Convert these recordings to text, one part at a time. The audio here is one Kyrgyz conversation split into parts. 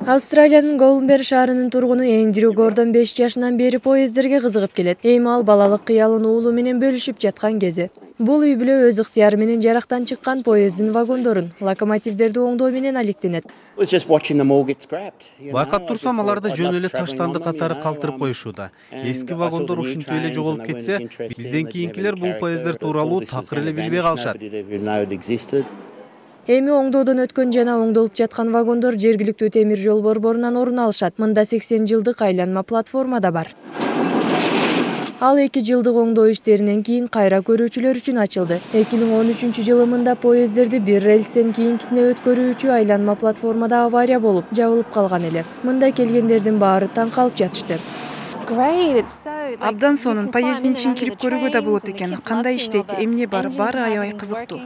Австралиянын Голденберг шаарынын тургуну Эндрю Гордон 5 жашынан бери поездерге кызыгып келет. Эми ал балалык кыялын уулу менен бөлүшүп жаткан кези. Бул үй бүлө өз ыктыяры менен жарактан чыккан поезддин вагондорун, локомотивдерди оңдоо менен алектенет. Байкап турсам, аларды жөн эле таштанды катары калтырып коюшууда. Эски вагондор ушинтип эле жоголуп кетсе, бизден кийинкилер бул поезддер тууралуу такыр эле билбей калышат. Эми оңдоодон өткөн жана оңдолуп жаткан вагондор жергиликтүү темир жол борборунан орун алышат. Мында 80 жылдык айланма платформа да бар. Ал 2 жылдык оңдоо иштеринен кийин кайра көрүүчүлөр үчүн ачылды. 2013 жылы мында поездерди бир рельстен кийинкисине өткөрүүчү айланма платформада авария болуп, жабылып калган эле. Мында келгендердин баары таң калып жатышты. Абдан сонун поезддин ичин кирип көрүүгө да болот экен. Кандай иштейт, эмне бар, баары аябай кызыктуу.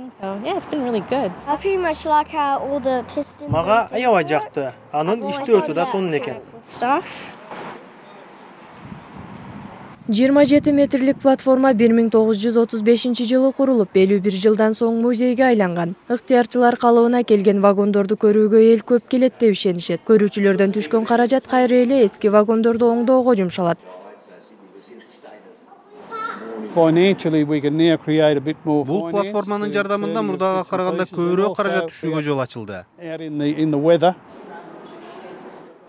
Мага аябай жакты. Анын иштөөсү да сонун экен. 27 метрлик платформа 1935 жылы курулуп, 51 жылдан соң музейге айланган. Ыктыярчылар калыбына келген вагондорду көрүүгө эл көп келет деп ишенишет. Көрүүчүлөрдөн түшкөн каражат кайра эле эски вагондорду оңдоого жумшалат. Бул платформанын жардамында мурдага караганда көбүрөөк каражат түшүүгө жол ачылды.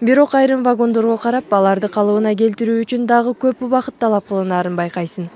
Бирок айрым вагондорго карап, аларды калыбына келтирүү үчүн дагы көп убакыт талап кылынаарын байкайсың.